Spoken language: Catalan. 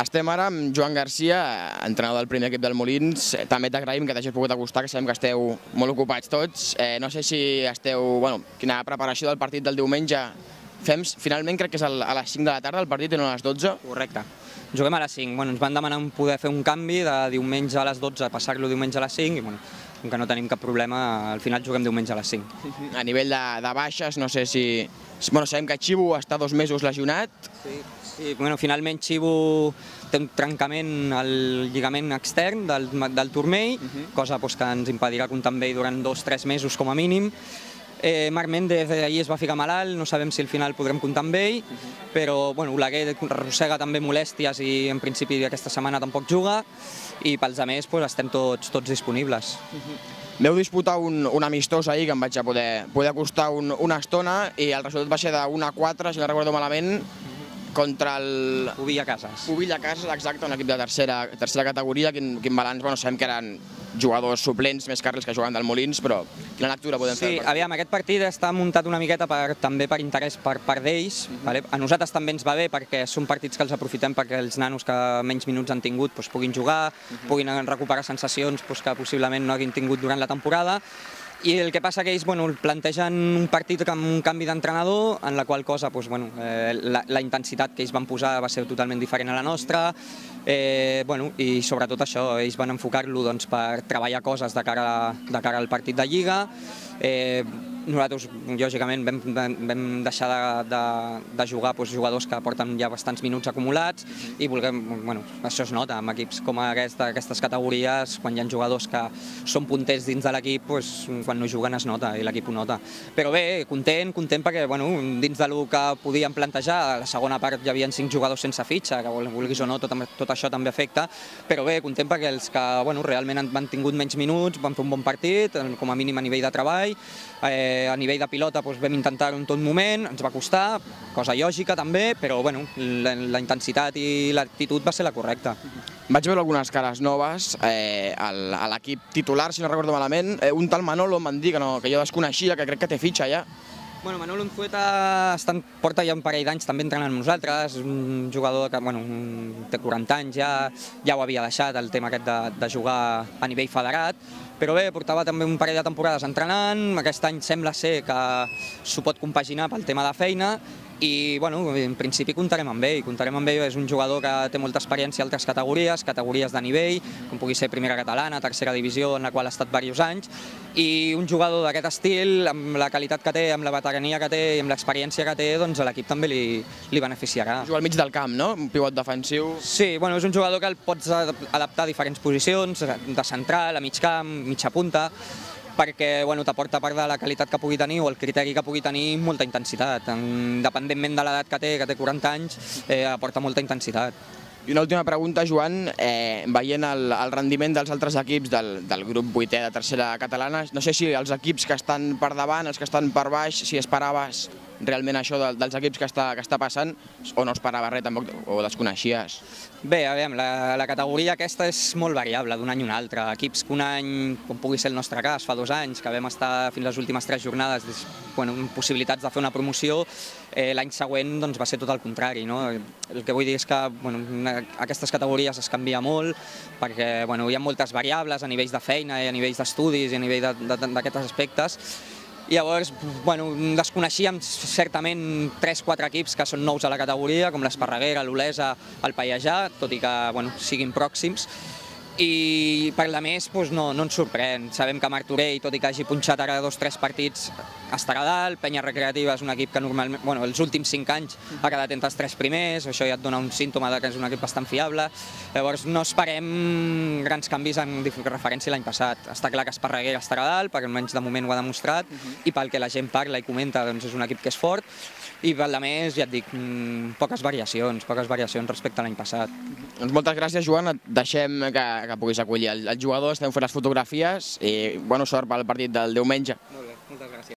Estem ara amb Joan Garcia, entrenador del primer equip del Molins. També t'agraïm que t'hagis pogut acostar, que sabem que esteu molt ocupats tots. No sé si esteu... Quina preparació del partit del diumenge fem? Finalment crec que és a les 5 de la tarda el partit i no a les 12. Correcte. Juguem a les 5. Ens van demanar poder fer un canvi de diumenge a les 12 a passar-lo diumenge a les 5 i com que no tenim cap problema, al final juguem diumenge a les 5. A nivell de baixes, no sé si... Sabem que Xivu està 2 mesos lesionat. Sí, finalment Xivu té un trencament al lligament extern del turmell, cosa que ens impedirà comptar amb ell durant 2-3 mesos com a mínim. Marc Méndez ahir es va ficar malalt, no sabem si al final podrem comptar amb ell, però Oleguer arrossega també molèsties i en principi aquesta setmana tampoc juga, i pels altres estem tots disponibles. Veu disputar un amistós ahir que em vaig poder acostar una estona i el resultat va ser de 1-4, si no recordo malament, contra el... Pubilla Cases. Pubilla Cases, exacte, un equip de tercera categoria. Quin balanç? Sabem que eren jugadors suplents més carrils que jugaven del Molins, però quina lectura podem fer? Sí, aviam, aquest partit està muntat una miqueta també per interès per part d'ells. A nosaltres també ens va bé perquè són partits que els aprofitem perquè els nanos que menys minuts han tingut puguin jugar, puguin recuperar sensacions que possiblement no hagin tingut durant la temporada. I el que passa que ells plantegen un partit amb un canvi d'entrenador, en la qual cosa la intensitat que ells van posar va ser totalment diferent a la nostra, i sobretot això, ells van enfocar-lo per treballar coses de cara al partit de Lliga. Nosaltres, lògicament, vam deixar de jugar jugadors que porten ja bastants minuts acumulats i això es nota amb equips com aquestes categories, quan hi ha jugadors que són punters dins de l'equip, quan no juguen es nota i l'equip ho nota. Però bé, content perquè dins del que podíem plantejar, a la segona part hi havia 5 jugadors sense fitxa, que vulguis o no, tot això també afecta, però bé, content perquè els que realment han tingut menys minuts van fer un bon partit, com a mínim a nivell de treball. A nivell de pilota vam intentar-ho en tot moment, ens va costar, cosa lògica també, però la intensitat i l'actitud va ser la correcta. Vaig veure algunes cares noves a l'equip titular, si no recordo malament. Un tal Manolo em van dir que jo desconeixia, que crec que té fitxa ja. Manolo Unzueta porta ja un parell d'anys també entrenant amb nosaltres, un jugador que té 40 anys, ja ho havia deixat el tema aquest de jugar a nivell federat, però bé, portava també un parell de temporades entrenant, aquest any sembla ser que s'ho pot compaginar pel tema de feina, i en principi comptarem amb ell, és un jugador que té molta experiència a altres categories de nivell, com pugui ser primera catalana, tercera divisió, en la qual ha estat diversos anys, i un jugador d'aquest estil, amb la qualitat que té, amb la veterania que té i amb l'experiència que té, doncs a l'equip també li beneficiarà. Juga al mig del camp, no? Un pivot defensiu. Sí, és un jugador que el pots adaptar a diferents posicions, de central, a mig camp, mitja punta, perquè t'aporta part de la qualitat que pugui tenir o el criteri que pugui tenir molta intensitat. Independentment de l'edat que té 40 anys, aporta molta intensitat. I una última pregunta, Joan, veient el rendiment dels altres equips del grup 8è de tercera catalana, no sé si els equips que estan per davant, els que estan per baix, si esperaves realment això dels equips que està passant o no esperaves res tampoc o desconeixies? Bé, aviam, la categoria aquesta és molt variable d'un any a un altre. Equips que un any, com pugui ser el nostre cas, fa 2 anys, que vam estar fins les últimes 3 jornades amb possibilitats de fer una promoció, l'any següent va ser tot el contrari. El que vull dir és que aquestes categories es canvia molt perquè hi ha moltes variables a nivells de feina i a nivells d'estudis i a nivell d'aquests aspectes. I llavors desconeixíem certament 3-4 equips que són nous a la categoria, com l'Esparreguera, l'Olesa, el Pallejà, tot i que siguin pròxims. I per la més no ens sorprèn. Sabem que Martorell, tot i que hagi punxat ara 2-3 partits, estarà dalt. Penya Recreativa és un equip que normalment, els últims 5 anys ha quedat entre els 3 primers, això ja et dona un símptoma que és un equip bastant fiable. Llavors no esperem grans canvis en referència a l'any passat. Està clar que Esparreguera estarà dalt, perquè almenys de moment ho ha demostrat, i pel que la gent parla i comenta és un equip que és fort, i per la més, ja et dic, poques variacions respecte a l'any passat. Doncs moltes gràcies, Joan, et deixem que puguis acollir el jugador, estem fent les fotografies i bona sort pel partit del diumenge. Molt bé, moltes gràcies.